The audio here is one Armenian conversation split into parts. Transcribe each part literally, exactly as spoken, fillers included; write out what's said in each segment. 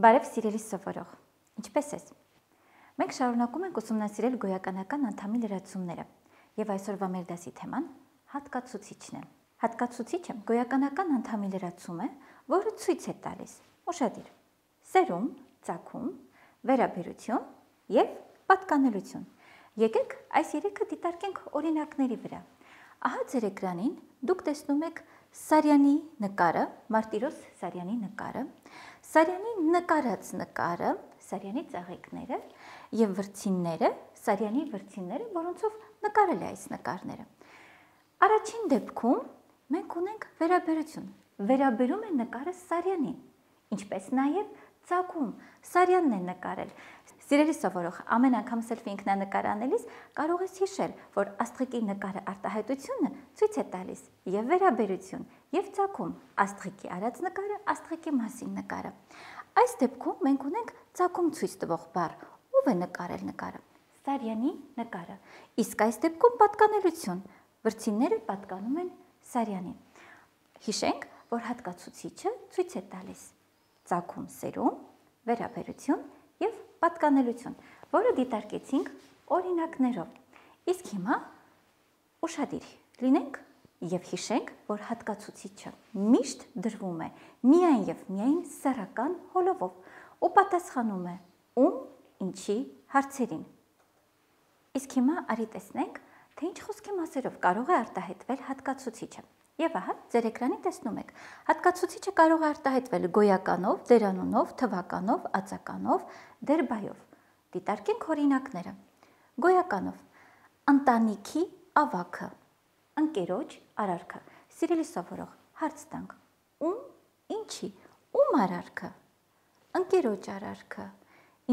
Բարև սիրելի սովորող, ինչպե՞ս ես։ Մենք շարունակում ենք ուսումնասիրել գոյականական անդամի լրացումները, եւ այսօրվա մեր դասի թեման հատկացուցիչն է։ Հատկացուցիչը գոյականական անդամի լրացում է, որը ցույց է տալիս ուշադիր սերում, ծագում, վերաբերություն եւ պատկանելություն։ Եկեք այս երեքը դիտարկենք օրինակների վրա։ Ահա ձեր էկրանին դուք տեսնում եք Սարյանի նկարը, Մարտիրոս Սարյանի նկարը, Սարյանի նկարած նկարը, Սարյանի ծաղիկները եւ վրձինները, Սարյանի վրձինները, որոնցով նկարել է այս նկարները։ Առաջին դեպքում մենք ունենք վերաբերություն։ Վերաբերում է նկարը Սարյանին, ինչպես նաեւ ծագում Սարյանն է նկարել։ Սիրելի սովորող, ամեն անգամ սելֆի ինքնանկար անելիս կարող ես հիշել, որ աստղիկի նկարը արտահայտությունը ցույց է տալիս եւ վերաբերություն, եւ ծագում աստղիկի արած նկարը, աստղիկի մասին նկարը։ Այս դեպքում մենք ունենք ծագում ցույց տվող բառ, ով է նկարել նկարը։ Սարյանի նկարը։ Իսկ այս դեպքում պատկանելություն, վրձինները պատկանում են Սարյանին։ Հիշենք, որ հատկացուցիչը ցույց է տալիս ծագում սերում, վերաբերություն եւ պատկանելություն, որը դիտարկեցինք օրինակներով։ Իսկ հիմա ուշադիր լինենք եւ հիշենք, որ հատկացուցիչը միշտ դրվում է միայն եւ միայն սեռական հոլովով ու պատասխանում է ում, ինչի հարցերին։ Իսկ հիմա արի տեսնենք, թե ինչ խոսքի մասերով կարող է արտահայտվել հատկացուցիչը։ Եվ ահա ձեր էկրանին տեսնում եք, հատկացուցիչը կարող է արտահայտվել գոյականով, դերանունով, թվականով, ածականով, դերբայով։ Դիտարկենք օրինակները։ Գոյականով ընտանիքի ավագը, ընկերոջ արարքը։ Սիրելի սովորող, հարց տանք. ում, ինչի, ում արարքը, ընկերոջ արարքը,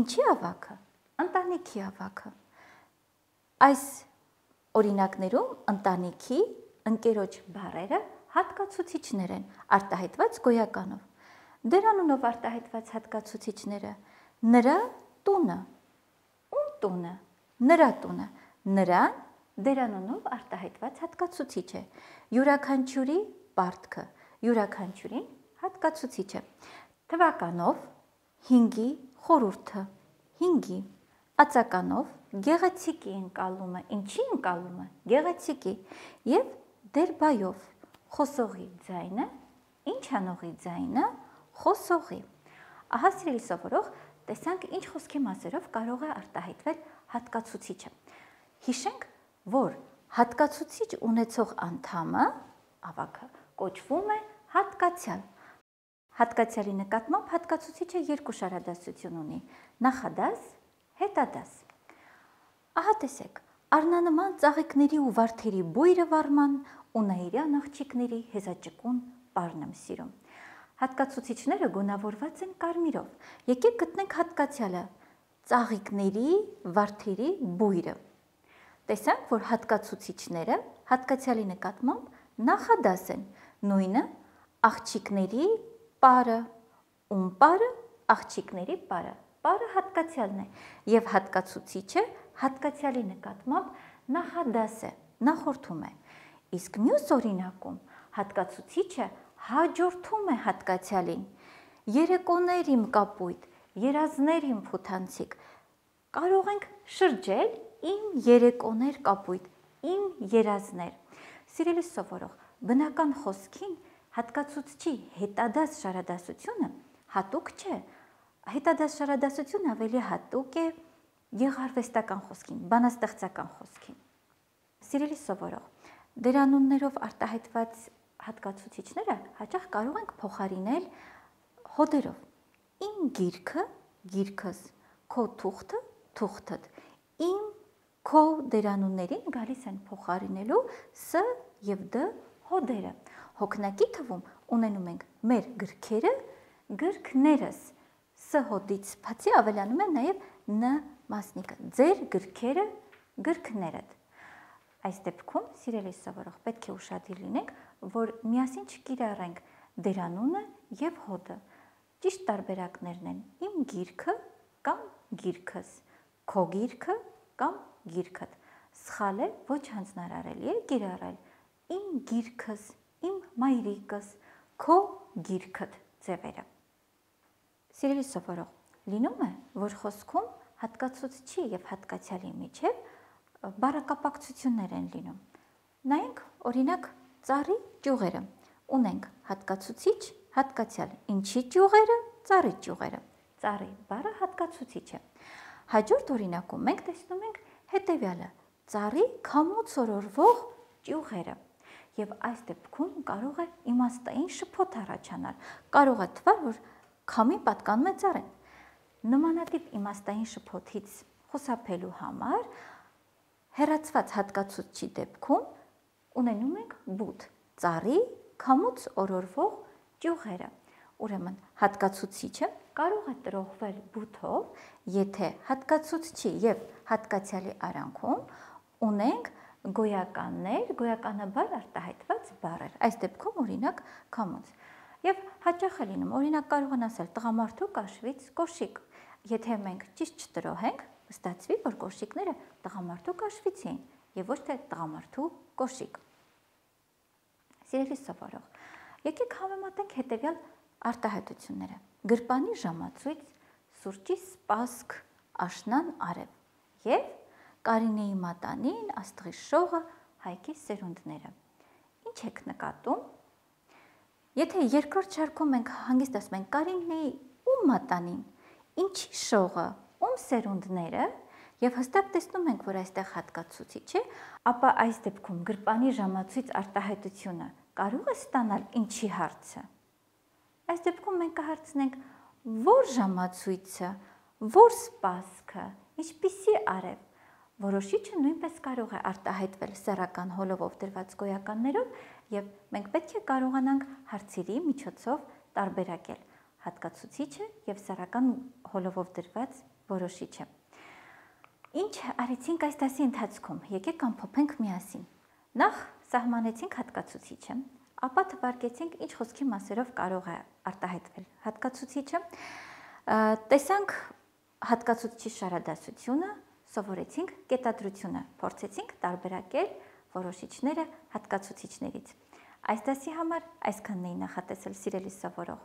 ինչի ավագը, ընտանիքի ավագը։ Այս օրինակներում ընտանիքի, ընկերոջ բառերը հատկացուցիչներ են, արտահայտված գոյականով։ Դերանունով արտահայտված հատկացուցիչները նրա տունը, ում տունը, նրա տունը, նրան դերանունով արտահայտված հատկացուցիչ է, յուրաքանչյուրի պարտքը, յուրաքանչյուրին հատկացուցիչ է։ Թվականով հինգի խորհուրդը, հինգի, ածականով գեղեցիկի ընկալումը, ինչի ընկալումը, գեղեցիկի, եւ դերբայով խոսողի ձայնը, ինչ անողի ձայնը, խոսողի։ Ահա սիրելի սովորող, տեսանք ինչ խոսքի մասերով կարող է արտահայտվել հատկացուցիչը։ Հիշենք, որ հատկացուցիչ ունեցող անդամը, ավագը, կոչվում է հատկացյալ։ Հատկացյալի նկատմամբ հատկացուցիչը երկու շարադասություն ունի՝ նախադաս, հետադաս։ Ահա տեսեք, առնանման ծաղիկների ու վարդերի բույրը վարման ու նայիրյան աղջիկների հեզաճկուն պարն եմ սիրում։ Հատկացուցիչները գունավորված են կարմիրով։ Եկեք գտնենք հատկացյալը, ծաղիկների, վարդերի բույրը։ Տեսանք, որ հատկացուցիչները հատկացյալի նկատմամբ նախադաս են, նույնը աղջիկների պարը, ում պարը, աղջիկների պարը, պարը հատկացյալն է, եւ հատկացուցիչը հատկացյալի նկատմամբ նախադաս է, նախորդում է։ Իսկ մյուս օրինակում հատկացուցիչը հաջորդում է հատկացյալին։ Երեկոներ իմ կապույտ, երազներ իմ փութանցիկ։ Կարող ենք շրջել իմ երեկոներ կապույտ, իմ երազներ։ Սիրելի սովորող, բնական խոսքին հատկացուցչի հետադաս շարադասությունը հատուկ չէ։ Հետադաս շարադասությունը ավելի հատուկ է գեղարվեստական խոսքին, բանաստեղծական խոսքին։ Սիրելի սովորող, դերանուններով արտահայտված հատկացուցիչները հաճախ կարող ենք փոխարինել հոդերով։ Իմ գիրքը, գիրքս, քո թուղթը, թուղթդ։ Իմ, քո դերանուններին գալիս են փոխարինելու ս եւ դ հոդերը։ Հոգնակի թվում ունենում ենք մեր գրքերը, գրքներս։ Ս հոդից բացի ավելանում է նաեւ ն մասնիկը, ձեր գրքերը, գրքներդ։ Այս դեպքում, սիրելի սովորող, պետք է ուշադիր լինենք, որ միասին չկիրառենք դերանունը եւ հոդը։ Ճիշտ տարբերակներն են իմ գիրքը կամ գիրքս, քո գիրքը կամ գիրքդ։ Սխալ է, ոչ հանձնարարելի է կիրառել իմ գիրքս, իմ մայրիկս, քո գիրքդ ձևերը։ Սիրելի սովորող, լինում է, որ խոսքում հատկացուցչի եւ հատկացյալի միջև բառակապակցություններ են լինում։ Նայենք, օրինակ, ծառի ճյուղերը։ Ունենք հատկացուցիչ, հատկացյալ։ Ինչի ճյուղերը, ծառի ճյուղերը։ Ծառի բառը հատկացուցիչ է։ Հաջորդ օրինակում մենք տեսնում ենք հետևյալը՝ ծառի քամուց օրորվող ճյուղերը։ Եվ այս դեպքում կարող է իմաստային շփոթ առաջանալ։ Կարող է թվալ, որ քամին պատկանում է ծառին։ Նմանատիպ իմաստային շփոթից խուսափելու համար հեռացված հատկացուցչի դեպքում ունենում ենք բութ՝ ծառի քամուց օրորվող ճյուղերը։ Ուրեմն հատկացուցիչը կարող է տրոհվել բութով, եթե հատկացուցչի եւ հատկացյալի արանքում ունենք գոյականներ, գոյականաբար արտահայտված բառեր։ Այս դեպքում օրինակ քամուց։ Եւ հաճախ է լինում, օրինակ կարող են ասել տղամարդու կաշվից կոշիկ։ Եթե մենք ճիշտ չտրոհենք, ստացվի, որ կոշիկները տղամարդու կաշվից էին եւ ոչ թե տղամարդու կոշիկ։ Սիրելի սովորող, եկեք համեմատենք հետևյալ արտահայտությունները։ Գրպանի ժամացույց, սուրճի սպասք, աշնան արև եւ Կարինեի մատանին, աստղի շողը, Հայկի սերունդները։ Ինչ եք նկատում։ Եթե երկրորդ շարքում մենք հանգիստ ասում ենք Կարինեի ում մատանին, ինչի շողը, ում սերունդները, եւ հստակ տեսնում ենք, որ այստեղ հատկացուցիչ է, ապա այս դեպքում գրպանի ժամացույց արտահայտությունը կարող է ստանալ ինչի հարցը։ Այս դեպքում մենք կհարցնենք որ ժամացույցը, որ սպասքը, ինչպիսի արև։ Որոշիչը նույնպես կարող է արտահայտվել սեռական հոլովով դրված գոյականներով եւ մենք պետք է կարողանանք հարցերի միջոցով տարբերակել հատկացուցիչը եւ սեռական հոլովով դրված որոշիչը։ Ինչ արեցինք այս դասի ընթացքում։ Եկեք ամփոփենք միասին։ Նախ սահմանեցինք հատկացուցիչը, ապա թվարկեցինք ինչ խոսքի մասերով կարող է արտահայտվել հատկացուցիչը, տեսանք հատկացուցիչի շարադասությունը, սովորեցինք կետադրությունը, փորձեցինք տարբերակել որոշիչները հատկացուցիչներից։ Այս դասի համար այսքանն էի նախատեսել, սիրելի սովորող։